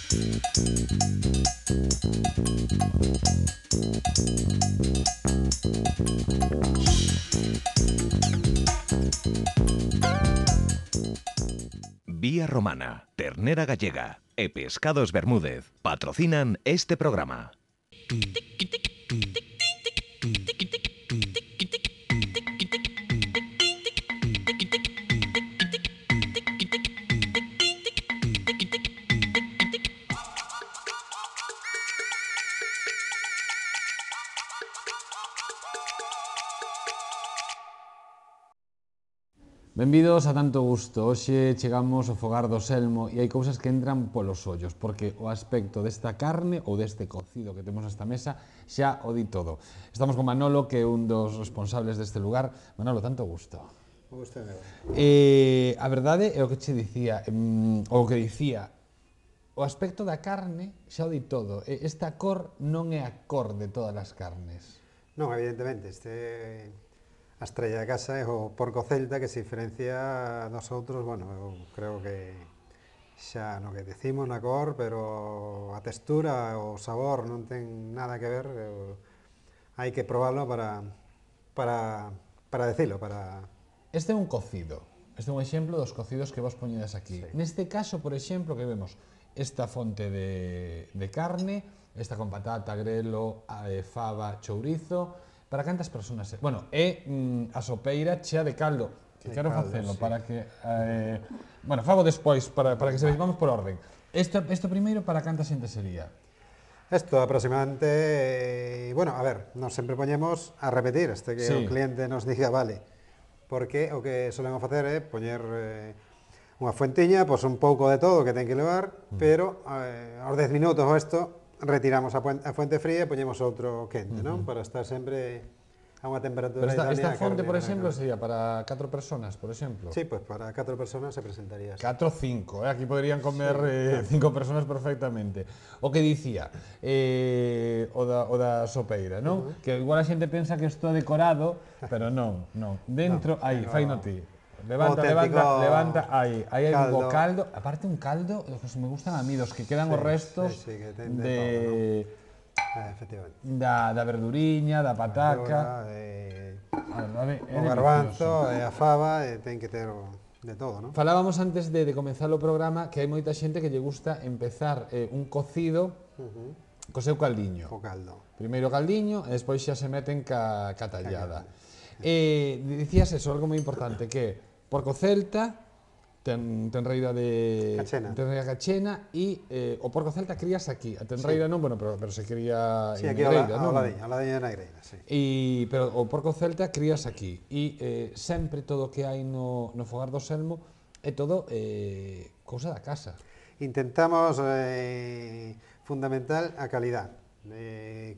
Vía Romana, Ternera Gallega e Pescados Bermúdez patrocinan este programa. Benvidos a Tanto Gusto. Hoxe chegamos ao fogar do Selmo e hai cousas que entran polos ollos, porque o aspecto desta carne ou deste cocido que temos nesta mesa xa o di todo. Estamos con Manolo, que é un dos responsables deste lugar. Manolo, Tanto Gusto. O gusto é meu. A verdade é o que che dicía, o aspecto da carne xa o di todo. Esta cor non é a cor de todas as carnes. Non, evidentemente, a estrella da casa é o porco celta que se diferencia dos outros, bueno, eu creo que xa no que decimos na cor, pero a textura, o sabor non ten nada que ver, hai que probarlo para decilo, para... Este é un cocido, este é un exemplo dos cocidos que vos poñedes aquí. Sí. Neste caso, por exemplo, que vemos esta fonte de carne, esta con patata, grelo, fava, chourizo. Para cantas personas? Bueno, é a sopeira chea de caldo, que quero facelo sí. para que... bueno, fago despois, para que se veis, vamos por orden. Isto primeiro, para canta xente sería? Isto aproximadamente, bueno, a ver, nos sempre poñemos a repetir, que Sí. o cliente nos diga, vale, porque o que solemos facer é poñer unha fuentiña, pois un pouco de todo que ten que levar, pero aos 10 minutos ou isto, retiramos a fuente fría e poñemos outro quente, non? Para estar sempre a unha temperatura Pero esta idónea. fonte, por exemplo, sería para 4 personas, por exemplo? Sí, pues para 4 personas se presentaría así. 4 ou 5, aquí poderían comer 5 personas perfectamente. O que dicía, o da sopeira, non? Que igual a xente pensa que isto é decorado, pero non. Dentro, aí, faino ti. Levanta, aí hai un caldo, aparte un caldo, que me gustan a mí, dos que quedan os restos que ten de... efectivamente. Da verduriña, da pataca... O garbanzo e a fava, ten que ter de todo, non? Falábamos antes de comenzar o programa que hai moita xente que lle gusta empezar un cocido co seu caldiño. O caldo. Primeiro o caldiño e despois xa se meten ca tallada. Dicías eso, algo moi importante, que porco celta, ten reira de... Cachena. Ten reira cachena e o porco celta crías aquí. A ten reira non, bueno, pero se cría Sí, en aquí negreira, non? ao ladiño de Negreira, sí. Pero o porco celta crías aquí e sempre todo o que hai no fogar do Selmo é todo cousa da casa. Intentamos fundamental a calidad.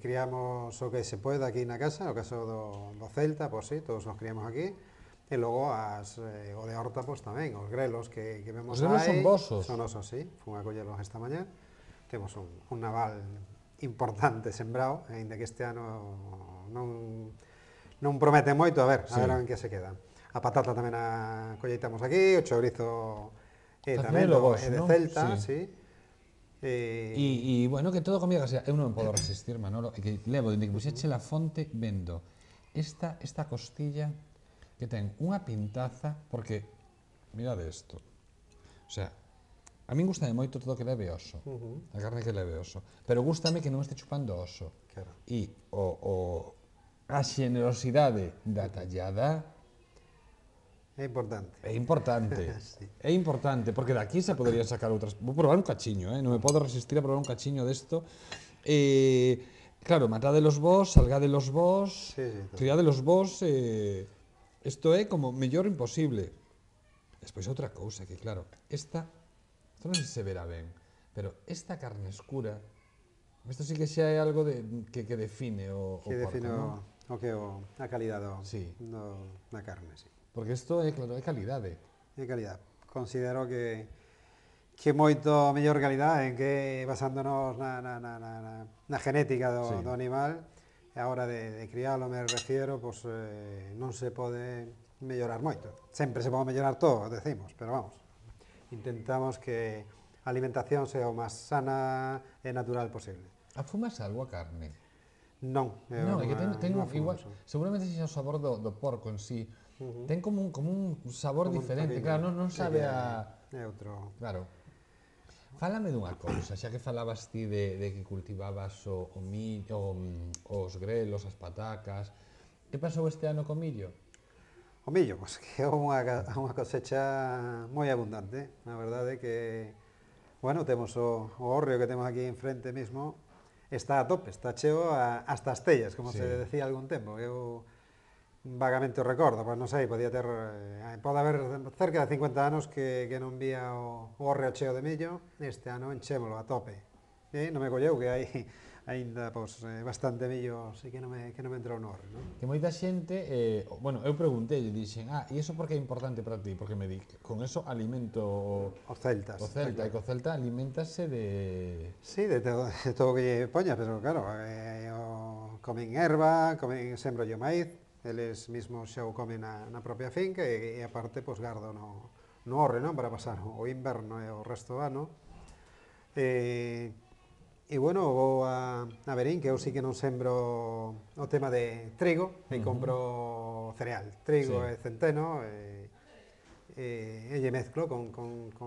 Criamos o que se pode aquí na casa, no caso do celta, pois sí, todos nos criamos aquí. E logo o de horta, pois tamén, os grelos que vemos aí. Os grelos son vosos? Son osos, sí. Fun a collelos esta mañá. Temos un naval importante sembrado, ainda que este ano non promete moito, a ver en que se queda. A patata tamén a colleitamos aquí, o chourizo tamén de celta, sí. E, bueno, que todo comida casera. Eu non podo resistir, Manolo, e que levo, dende que puxeche la fonte, vendo esta costilla que ten unha pintaza, porque, mirade isto, o sea, a min gustame moito todo que leve oso, a carne que leve oso, pero gustame que non este chupando oso. Claro. E a xenerosidade da tallada É importante. é importante, Sí. é importante, porque daqui se poderían sacar outras... Vou probar un cachiño, non me podo resistir a probar un cachiño desto. Claro, matádelos vos, salgádelos vos, criádelos vos, isto é como mellor imposible. Despois outra cousa, que claro, isto non sei se verá ben, pero esta carne escura, isto sí que xa é algo que define o porco, non? O que a calidad da carne, sí. Porque isto é, claro, é calidade. É calidad. Considero que moito mellor calidad en que basándonos na genética do animal, e a hora de crialo, me refiero, pois non se pode mellorar moito. Sempre se pode mellorar todo, decimos, pero vamos, intentamos que a alimentación sea o máis sana e natural posible. Afumas algo a carne? Non, Non, é que ten non igual, afumo. seguramente sexa o sabor do porco en sí. Ten como un sabor Como un diferente, toquiño. claro, non Sí, sabe que a... é outro. Claro. Fálame dunha cousa, xa que falabas ti de que cultivabas o millo, os grelos, as patacas. Que pasou este ano co millo? O millo, pois que é unha cosecha moi abundante. A verdade é que, bueno, temos o hórreo que temos aquí enfrente mesmo, está a tope, está cheo hasta as tellas, como Sí. se decía algún tempo. Eu vagamente o recordo, pois non sei, podía ter, pode haber cerca de 50 anos que non vía o hórreo cheo de millo, este ano enchémolo a tope. Non me colleu que hai aínda pois, bastante millo, así que non me entrou no hórreo, non? Que moita xente, bueno, eu preguntei e dixen, e iso por que é importante para ti? Porque me di, con eso alimento Os celtas. o Celta, e co Celta alimentase de... Sí, de todo o que lle poñas, pero claro, comen erva, sembro o maíz, eles mesmos xa o comen na propia finca e aparte, pois, gardo no hórreo, non? Para pasar o inverno e o resto do ano. E bueno, vou a Verín, que eu sí que non sembro o tema de trigo, e compro cereal, trigo Sí. e centeno, e lle mezclo con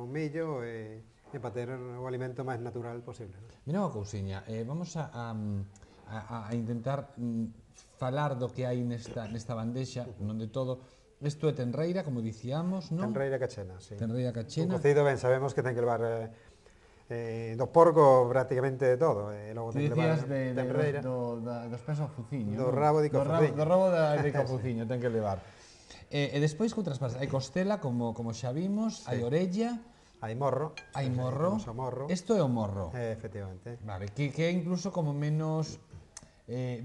millo e para ter o alimento máis natural posible. Mira unha cousiña, vamos a intentar falar do que hai nesta bandexa, non de todo. Isto é tenreira, como dicíamos, non? Tenreira cachena, sí. Tenreira Un cachena. cocido, ben, sabemos que ten que levar do porco prácticamente de todo, e logo Ti ten que levar dicías tenreira. dos pés ao fuciño, Do non? rabo de cofuciño. Do rabo de cofuciño ten que levar. E despois que outras partes? Hai costela, como xa vimos, hai orella, Hai morro. hai morro. Temos o morro. Isto é o morro. Efectivamente. Vale, que é incluso como menos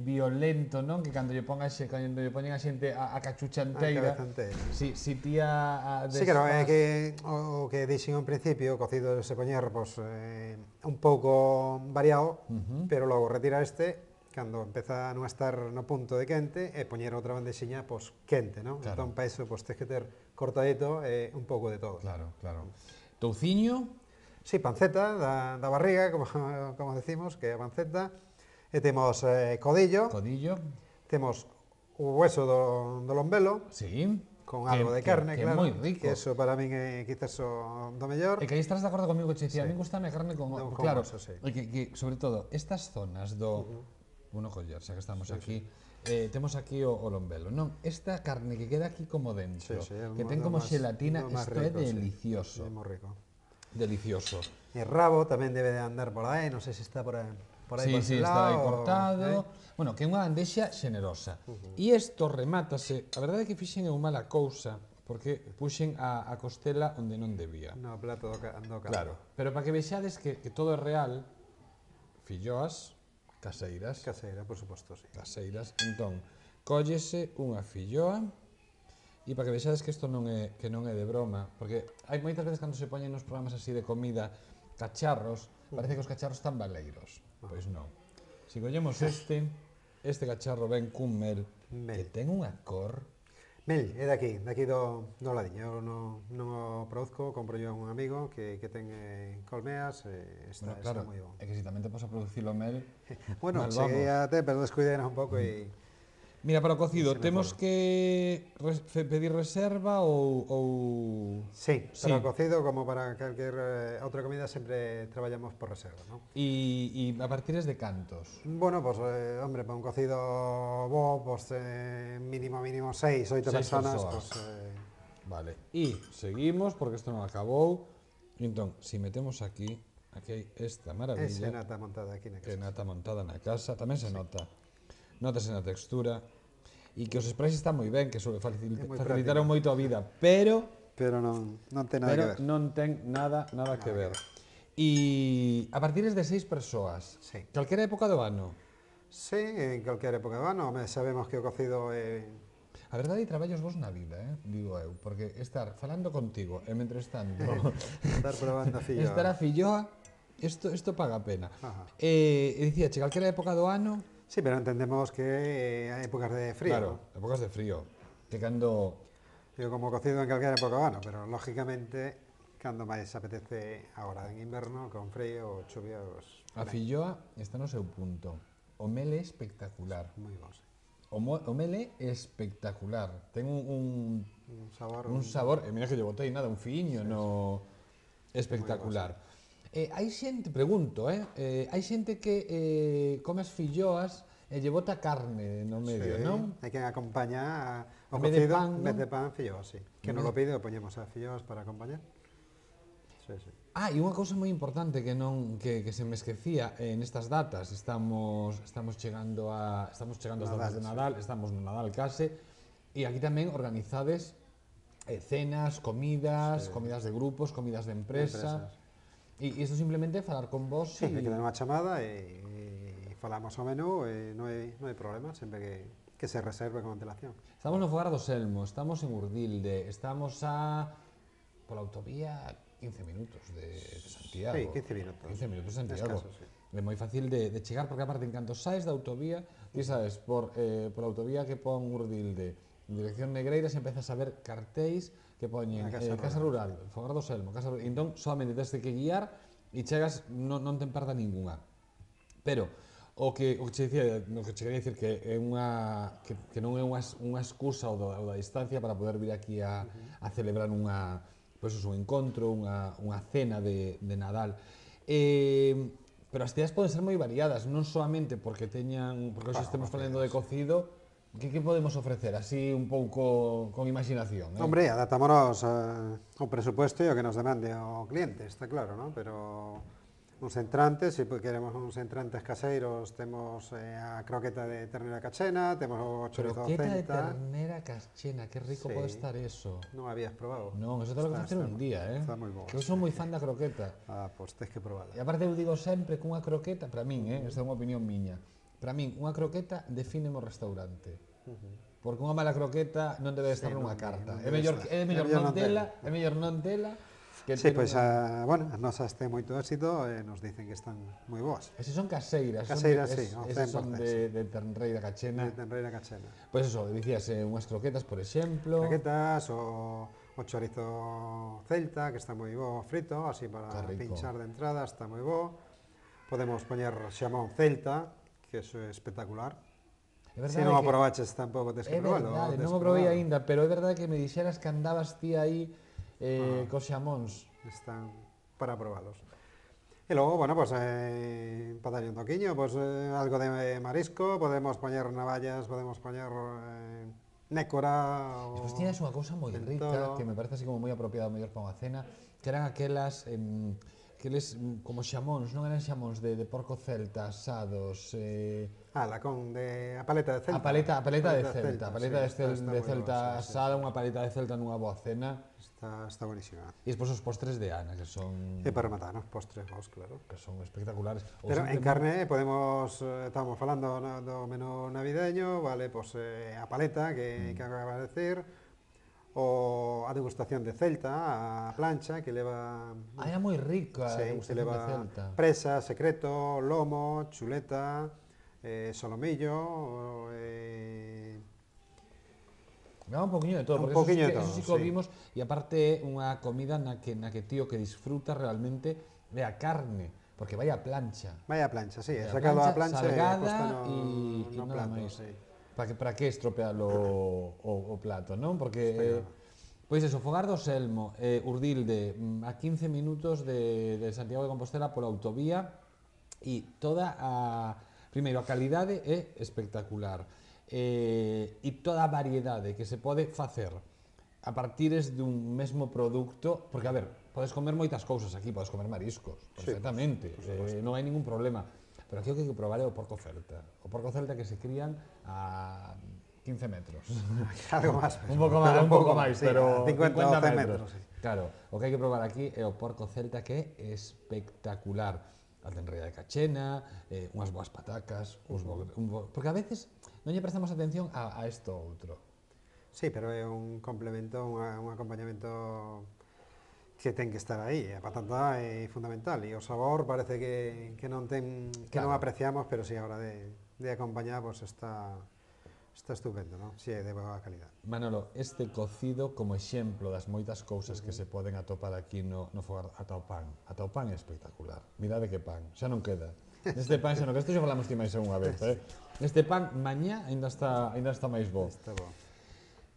violento, non? Que cando lle poñen a xente a cachuchanteira. A cabezanteira. Si ti a Sí, claro, é que o que dixen ao principio, o cocido se poñer pois, un pouco variado, pero logo retirar este cando empeza a non estar no punto de quente e poñer outra bandexiña pois, quente, non? Claro. Entón, para iso, pois, tens que ter cortadito e un pouco de todo. Claro, claro. Touciño, Sí, panceta da barriga, como decimos, que é a panceta. E temos codillo, codillo, temos o hueso do lombelo, sí. con algo de carne, que claro. é moi rico. Que eso para min é quizás o do mellor. E que aí estás de acordo comigo que che dicía, a mí gustame a carne con Con claro, oso, sí. e que sobre todo estas zonas do bueno, coller, xa que estamos aquí, temos aquí o lombelo, non? Esta carne que queda aquí como dentro, Sí, que ten como xelatina, máis isto é rico, sí. delicioso. É moi rico. Delicioso. E rabo tamén debe de andar por aí, non sei se está por aí por Sí, ese está aí lado, cortado. Bueno, que é unha bandexa xenerosa. E isto remátase, a verdade é que fixen eu mala cousa, porque puxen a costela onde non debía. No plato do caldo. Claro, pero para que vexades que todo é real, filloas caseiras, Caseira, por suposto, sí. caseiras, entón, cóllese unha filloa, e para que vexades que isto non é de broma, porque hai moitas veces cando se poñen nos programas así de comida cacharros, parece que os cacharros están baleiros. Pois non. Se collemos este cacharro ven cun mel, que ten unha cor. Mel, é daqui do ladiño. Eu non o produzco, compro yo a un amigo que ten colmeas, está moi bon. É que si tamén te pasa a producir o mel. Bueno, mal cheguei vamos. a ter, pero descuidei un pouco e... Mira, para o cocido, Se me temos foron. que pedir reserva ou... Sí, Sí. para o cocido, como para calquer outra comida, sempre traballamos por reserva, non? E a partir de cantos? Bueno, pues, hombre, para un cocido bo, pues, mínimo 6, 8 Seis personas, persoas. pues, Vale, e seguimos, porque isto non acabou. Entón, si metemos aquí hai esta ese maravilla, nata montada aquí na que casa. nata montada na casa, tamén se nota. Notase na textura. E que os sprays están moi ben, que facilitaron moito a vida, pero Pero non ten nada que ver. non ten nada que ver. E a partir de 6 persoas, Sí. calquera época do ano. Sí, en calquer época do ano, sabemos que o cocido é... A verdade, traballos vos na vida, digo eu, porque estar falando contigo e mentres tanto Estar probando a filloa. estar a filloa, isto paga a pena. Ajá. E dicía, calquera época do ano, Sí, pero entendemos que hai épocas de frío. claro, épocas de frío, que cando Digo, como cocido en calquer época do ano, pero lógicamente cando máis apetece agora en inverno, con frío ou chuvia, pues, A filloa está no seu punto. O mel é espectacular. moi bons. O mel é espectacular. Ten un Un sabor, sabor, e mira que lle botei nada, un fiño, no espectacular. Hai xente, pregunto, hai xente que come as filloas e lle bota carne no medio, sí, non? hai quen acompaña o En vez de cocido, pan, en vez non? de pan, filloas, sí. Que non lo pide, o poñemos a filloas para acompañar. Sí, sí. Ah, e unha cousa moi importante que se me esquecía nestas datas, estamos chegando ás datas de Nadal, estamos no Nadal case, e aquí tamén organizades cenas, comidas, comidas de grupos, comidas de empresa. E isto simplemente é falar con vos Sí, hai que dar unha chamada e falamos o menú e non hai problema, sempre que se reserve con antelación. Estamos no Fogar do Selmo, estamos en Urdilde, estamos pola autovía 15 minutos de Santiago. Sí, 15 minutos. 15 minutos de Santiago. Escaso, sí. É moi fácil de chegar, porque aparte, en canto saes da autovía, ti sabes, por autovía que pon Urdilde, en dirección Negreiras, empezas a ver cartéis que poñen Casa Rural, Fogar do Selmo, Casa Rural. Entón, solamente tens que guiar e chegas, non te perda ninguna. Pero o que che dicía, no que che quería dicir que é que non é unha excusa o da distancia para poder vir aquí a celebrar pois un encontro, unha cena de Nadal. Pero as ceas poden ser moi variadas, non solamente porque hoxe estemos falando de cocido. Que podemos ofrecer, así un pouco con imaginación? Hombre, adaptámonos ao presupuesto e ao que nos demande o cliente, está claro, ¿no? Pero uns entrantes, se queremos uns entrantes caseiros, temos a croqueta de ternera cachena, temos o chorizo Croqueta de celta. ternera cachena, que rico pode estar eso. Non habías probado? Non, eso te lo que facer un día, Está moi bo. Que eu son moi fan da croqueta. Ah, pois tes que probarla. E aparte eu digo sempre que unha croqueta, para min, esta é unha opinión miña, para min unha croqueta define o restaurante. Porque unha mala croqueta non debe estar nunha carta. É mellor non tela que Sí, pois, bueno, as nosas ten moito éxito e nos dicen que están moi boas. Esas son caseiras. Caseiras, sí, esas son de ternreira cachena. De ternera cachena. Pois eso, dicías unhas croquetas, por exemplo. Croquetas, o chorizo celta, que está moi bo frito, así para pinchar de entrada, está moi bo. Podemos poñer xamón celta, que eso é espectacular. Se non o probaches tampouco tes que probalo. É verdade, non o probei aínda, pero é verdade que me dixeras que andabas ti aí cos xamóns. Están para probalos. E logo, bueno, pues, para darlle un toquiño, pues, algo de marisco, podemos poñer navallas, podemos poñer nécora. E despois tiñas unha cousa moi rica, que me parece así como moi apropiada mellor para unha cena, que eran aqueles como xamóns, non eran xamóns de porco celta asados. A paleta de celta. A paleta de celta asada, unha paleta de celta nunha boa cena. Está buenísima. E despois os postres de Ana, que son... E para rematar, os postres vos, claro. Que son espectaculares. Pero en carne estamos falando do menú navideño, vale, pues a paleta, que acaba de decir, a degustación de celta, a plancha, que leva... Era moi rica a degustación de celta. Presa, secreto, lomo, chuleta, solomillo... Dá un poquinho de todo, porque eso sí que o vimos, e aparte é unha comida na que tío que disfruta realmente é a carne, porque vai a plancha. Vai a plancha, sí, sacado a plancha salgada e nada máis. Sí. Para que estropealo o plato, non? Porque, pois eso, Fogar do Selmo, Urdilde, a 15 minutos de Santiago de Compostela pola autovía, e primeiro, a calidade é espectacular. E toda a variedade que se pode facer a partires dun mesmo produto, porque, a ver, podes comer moitas cousas aquí, podes comer mariscos, perfectamente, non hai ningún problema, pero aquí o que hai que probar é o porco celta. O porco celta que se crían a 15 metros. Algo máis. Un pouco máis, pero 50 ou 100 metros. Claro, o que hai que probar aquí é o porco celta, que é espectacular. A tenreira de cachena, unhas boas patacas, porque a veces non lle prestamos atención a isto outro. Sí, pero é un complemento, un acompañamento que ten que estar aí. A patata é fundamental e o sabor parece que non apreciamos, pero si a hora de acompañar, pues está Está estupendo, non? Si é de boa calidad. Manolo, este cocido como exemplo das moitas cousas que se poden atopar aquí no fogar, ata o pan. Ata o pan é espectacular. Mirade que pan, xa non queda. Neste pan, xa non, que isto xa falamos ti máis unha vez, Neste pan, mañá, ainda está máis bo. Está bo.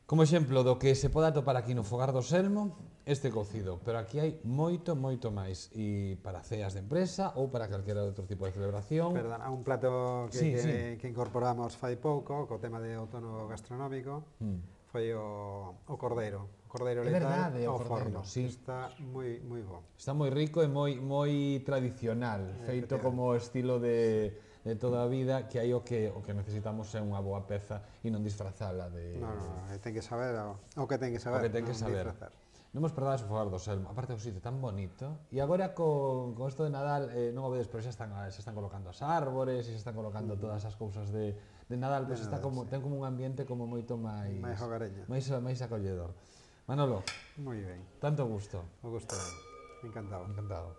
Como exemplo do que se pode atopar aquí no fogar do Selmo, este cocido, pero aquí hai moito máis, e para ceas de empresa ou para calquera outro tipo de celebración. Perdona, un plato Sí, que incorporamos fai pouco, co tema de outono gastronómico, foi o cordeiro. O cordeiro É letal verdade, o ao cordeiro, forno. sí. Está moi bo. Está moi rico e moi tradicional, feito como estilo de toda a vida, que aí o que necesitamos é unha boa peza e non disfrazala de... No, ten que saber o que ten que saber. O que ten que non saber. disfrazar. Non vos perdades o fogar do Selmo, aparte do sitio tan bonito. E agora con isto de Nadal, non o vedes, pero xa están colocando as árbores, e xa están colocando todas as cousas de Nadal, pois está como, ten como un ambiente como moito máis... Máis hogareño. máis acolledor. Manolo, Moi ben. tanto gusto. O gusto, encantado. Encantado.